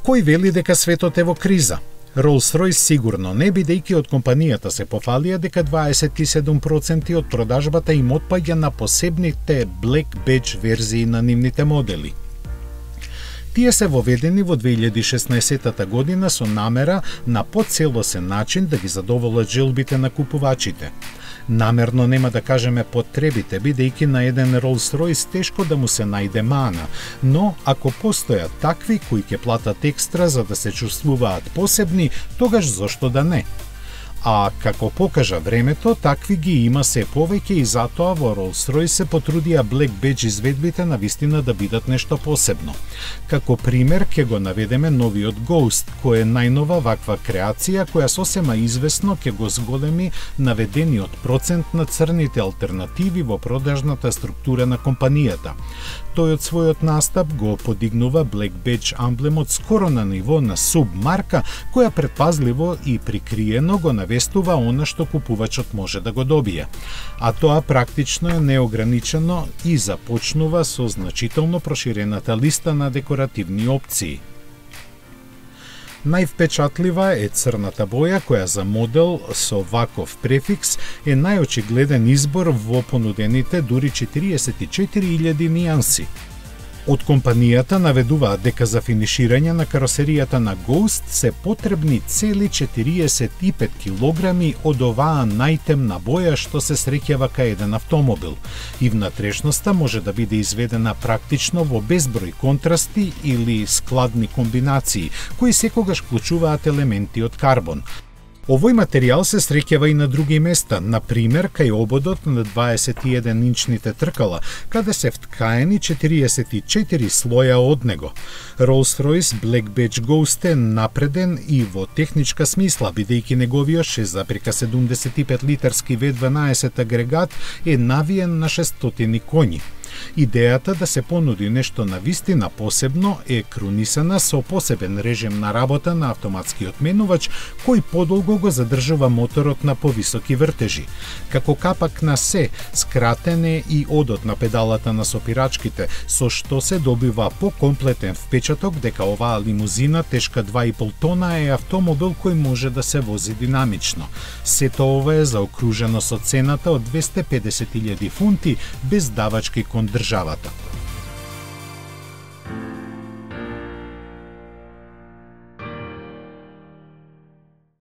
Кој вели дека светот е во криза? Rolls-Royce сигурно не, бидејќи од компанијата се пофалија дека 27% од продажбата им отпаѓа на посебните Black Badge верзии на нивните модели. Тие се воведени во 2016 година со намера на поцелосен начин да ги задоволат желбите на купувачите. Намерно нема да кажеме потребите, бидејќи на еден Rolls-Royce тешко да му се најде мана, но ако постојат такви кои ќе платат екстра за да се чувствуваат посебни, тогаш зошто да не? А како покажа времето, такви ги има се повеќе и затоа во Rolls-Royce се потрудија Black Badge изведбите на вистина да бидат нешто посебно. Како пример ќе го наведеме новиот Ghost, кој е најнова ваква креација која сосема известно ќе го зголеми наведениот процент на црните алтернативи во продажната структура на компанијата. Тој од својот настап го подигнува Black Badge амблемот скоро на ниво на субмарка, која претпазливо и прикриено го навестува она што купувачот може да го добие. А тоа практично е неограничено и започнува со значително проширената листа на декоративни опции. Највпечатлива е црната боја, која за модел со ваков префикс е најочигледен избор во понудените дури 44.000 нијанси. Од компанијата наведуваат дека за финиширање на каросеријата на Ghost се потребни цели 45 килограми од оваа најтемна боја што се среќава кај еден автомобил. И внатрешноста може да биде изведена практично во безброј контрасти или складни комбинации, кои секогаш вклучуваат елементи од карбон. Овој материјал се среќава и на други места, на пример кај ободот на 21-инчните тркала, каде се вткаени 44 слоја од него. Rolls-Royce Black Badge Ghost е напреден и во техничка смисла, бидејќи неговиот 6,75 литарски V12 агрегат е навиен на 600 коњи. Идејата да се понуди нешто на вистина посебно е крунисана со посебен режим на работа на автоматскиот менувач, кој подолго го задржува моторот на повисоки вртежи. Како капак на се, скратен е и одот на педалата на сопирачките, со што се добива покомплетен впечаток дека оваа лимузина тешка 2,5 тона е автомобил кој може да се вози динамично. Сето ова е заокружено со цената од 250.000 фунти без давачки кон државата.